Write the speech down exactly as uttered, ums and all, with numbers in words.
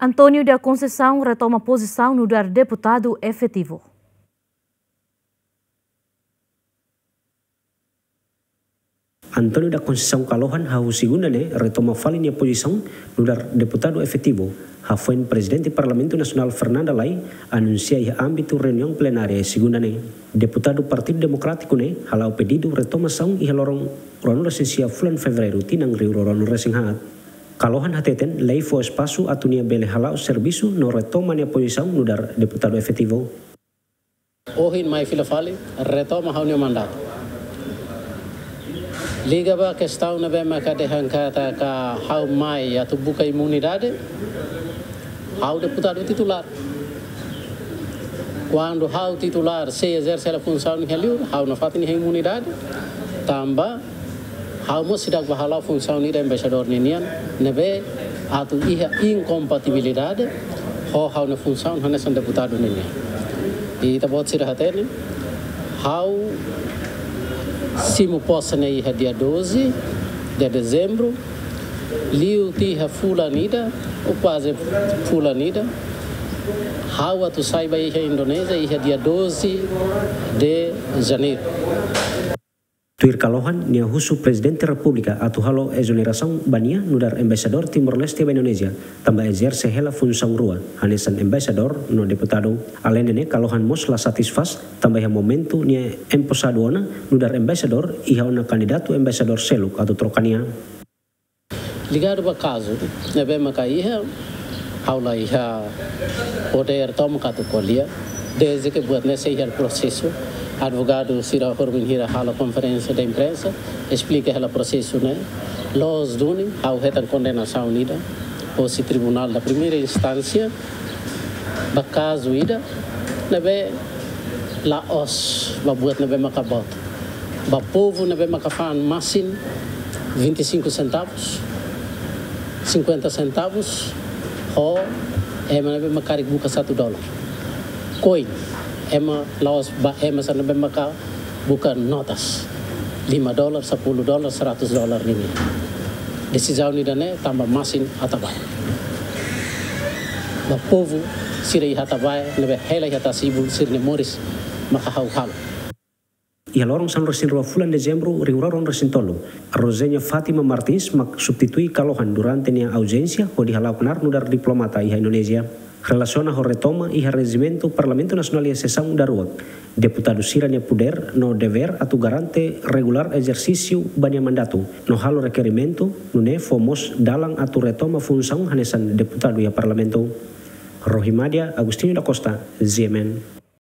António da Conceição retoma pozisaun nu'udar deputadu efetivu. António da Conceição Kalohan hahú segunda ne'e retoma fali nia pozisaun nu'udar deputadu efetivu, hafoin Prezidente Parlamentu Nasionál Fernanda Lay anunsia iha ámbitu reuniaun plenária segunda ne'e. Deputadu Partidu Demokrátiku ne'e hala'o pedidu retomasaun iha loron ruanulu-resin-sia fulan Fevereiru tinan rihun rua ruanulu-resin-haat. Kalohan hateten Lay fó espasu atu nia bele hala'o servisu no retoma nia pozisaun nu'udar deputadu efetivu. Ohin mai fila fali, retoma ha'u-nia mandatu. Liga ba kestaun ne'ebé maka dehan katak ha'u mai atu buka imunidade, ha'u deputadu titulár. Kuandu ha'u titulár sei ezerse hela funsaun iha liur, ha'u nafatin iha imunidade, tanba ha'u mós seidauk bá hala'o funsaun ida embaixadór ninian, ne'ebé atu iha inkompatibilidade ho ha'u-nia funsaun hanesan deputadu ninian. I ita-boot sira hatene, ha'u simu pose ne'e iha dia doze de dezembro, liu tiha fulan ida, ou kuaze fulan ida, ha'u atu sai ba iha Indonézia iha dia doze de janeiro. Tuir Kalohan, nia husu Prezidente Repúblika atu halo ezonerasaun ba nia nu'udar embaixadór Timor-Leste ba Indonézia, tanba ezerse hela funsaun rua, hanesan embaixadór no deputadu. Aleinde ne'e, Kalohan mós la satisfás, tanba iha momentu nia emposadu ona nu'udar embaixadór, iha ona kandidatu embaixadór seluk atu troka nia. Ligadu ba kazu ne'ebé maka iha, ha'u la iha podér tomak atu ko'alia, dezde ke buat ne'e sei iha prosesu. Advogadu sira horibainhira halo konferénsia de imprensa, esplika hela prosesu ne'e. Loos duni, ha'u hetan kondenasaun ida hosi Tribunál da Primeira Instánsia, ba kazu ida ne'ebé la'ós ba buat ne'ebé maka boot. Ba povu ne'ebé maka fa'an masin vinte e cinco centavos, cinquenta centavos, ho ema ne'ebé maka karik buka satu dolar. Koin, ema la'ós ba ema sira ne'ebé maka buka notas lima dolar, sepuluh dolar, seratus dolar nian. Desizaun ida-ne'e tanba masin Atabae. Ba povu sira iha Atabae ne'ebé hela iha Tasi-Ibun sira-nia moris maka ha'u halo. Iha loron sanulu-resin-rua fulan Dezembru rihun rua ruanulu-resin-tolu, Rosenia Fátima Martins mak substitui Kalohan durante nia auzénsia hodi hala'o knaar nu'udar diplomata iha Indonézia. Relasiona ho retoma iha rejimentu Parlamentu Nasionál iha sesaun daruak, deputadu sira-nia podér no devér atu garante regulár ezersísiu ba nia mandatu, no halo rekerimentu, nune'e fó mós dalan atu retoma funsaun hanesan deputadu iha Parlamentu. Rohimadia Agostinho da Costa, G M N.